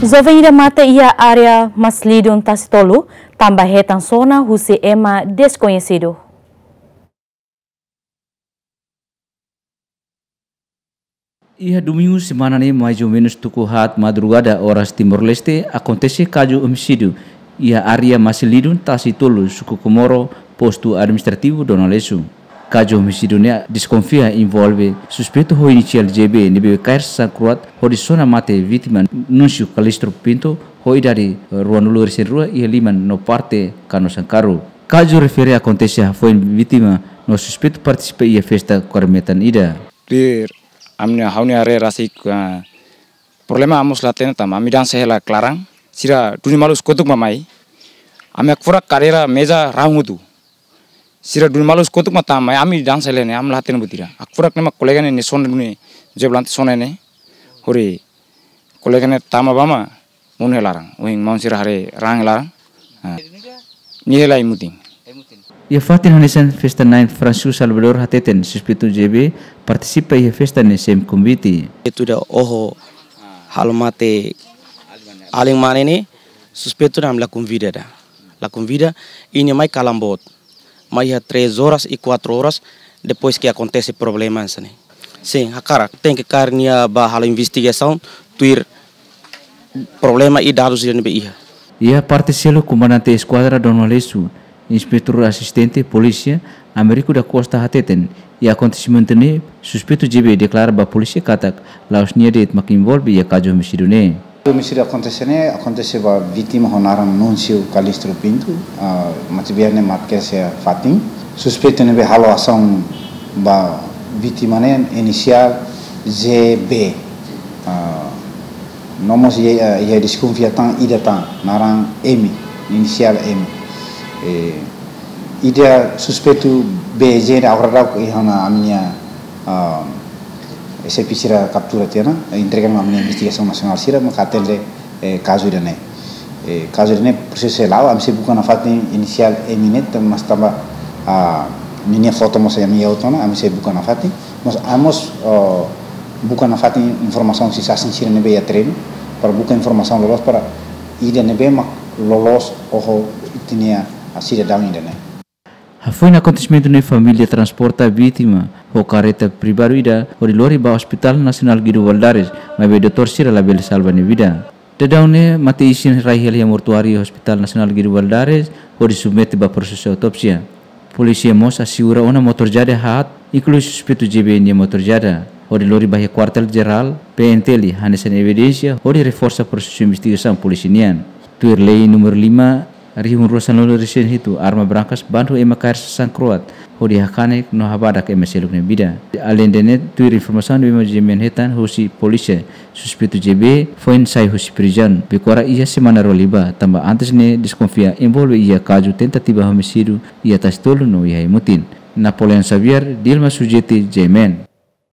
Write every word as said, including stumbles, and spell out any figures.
Joven ida mate iha área Maslidun Tasitolu, tanba hetan sona husi ema deskoñesidu. Iha domingu semana ne'e, mais ou menus tuku haat madrugada oras Timor-Leste, akontese kazu omisídiu iha área Maslidun Tasitolu, suku Komoro, postu administrativu Dona Lesu. Kazu omisídiu ne'e deskonfia envolve suspeitu ho inisiál J B ne'ebé kaer sasán kro'at hodi sona mate vítima Nuncio Calixto Pinto ho idade ruanulu-resin-rua iha liman no parte Kano Sankaru. Kazu refere akontese hafoin vítima no suspeitu partisipa iha festa kore metan ida. Tuir ami-nia, ha'u-nia haree rasik, ah, problema ami mós la hatene tanba ami dansa hela klaran. Sira duni malu iha kotuk mak mai. Ami hakfodak kadeira meza rahun hotu. Sira duni malu iha kotuk mak tama mai, ami dansa hela ne'e, ami la hatene buat ida. Hakfodak ne'e mak kolega ne'e, ne'e sona duni, joblante sona ne'e. Hori kolega ne'e tama ba mak monu iha laran. Ohin maun sira haree rahun iha laran. Ah. Nia hela ai-mutin. Iha fatin hanesan festa na'in, Francisco Salvador hateten suspeitu J B partisipa iha festa ne'e sem konvite. Itu da oho halo mate alin mane ne'e, suspeitu ne'e ami la konvida ida. La konvida, nia mai kalan boot. Mai iha três horas e quatro horas, depois ke akontese problema hanesan ne'e. Sin, hakarak, tenke kaer nia ba halo investigasaun, tuir problema i dadus ida ne'ebé iha. Iha parte seluk, Komandante Eskuadra Dona Lesu, Inspetór Asistente Polísia Américo da Costa hateten, iha akontesimentu ne'e, suspeitu J B deklara ba polísia katak la'ós nia de'it mak envolve iha kazu omisídiu ne'e. Omisídiu akontese ne'e, akontese ba vítima ho naran Nuncio Calixto Pinto, ah, matebian ne'e mak kedas iha fatin. Suspeitu ne'ebé halo asaun ba vítima ne'e inisiál J B. Ah, no mós iha, iha deskonfia tan ida tan, naran M, inisiál M. Eh, ida suspeitu B J ne'e agora daudauk iha ona ami-nia, ah, S P sira kaptura tiha ona, entrega ona ami-nia investigasaun nasionál sira, maka atende, eh, kazu ida-ne'e. Eh, kazu ida-ne'e prosesu la'o, ami sei buka nafatin inisiál M ne'e, mas tanba, ah, ninia foto mós ami iha ona, ami sei buka nafatin. Mas ami mós, oh, buka nafatin informasaun husi sasin sira ne'ebé iha terrenu, para buka informasaun loloos para ida ne'ebé mak loloos oho tiha nia, ah, sidadaun ida-ne'e. Hafoin akontesimentu ne'e, família transporta vítima ho karreta privadu ida hodi lori ba Hospital Nasionál Guido Valadares, maibé doutór sira labele salva nia vida. Daudaun ne'e mate-isin rai hela iha mortuáriu Hospital Nasionál Guido Valadares hodi submete ba prosesu autópsia. Polísia mós asegura ona motór jada haat, inklui suspeitu J B nia motór jada, hodi lori ba iha Kuartél Jerál P N T L hanesan evidénsia hodi reforsa prosesu investigasaun polísia nian. Tuir lei númeru lima, rihun rua sanulu-resin-hitu, arma brankas bandu ema kaer sasán kro'at hodi hakanek no habadak ema seluk nia vida. Aleinde ne'e, tuir informasaun ne'ebé mak G M N hetan husi polísia, suspeitu J B foin sai husi prizaun Becora iha semana rua liubá, tanba antes ne'e deskonfia envolve iha kazu tentativa omisídiu iha Tasitolu no iha ai-mutin. Napoleão Xavier, Dilma Sujeti, G M N.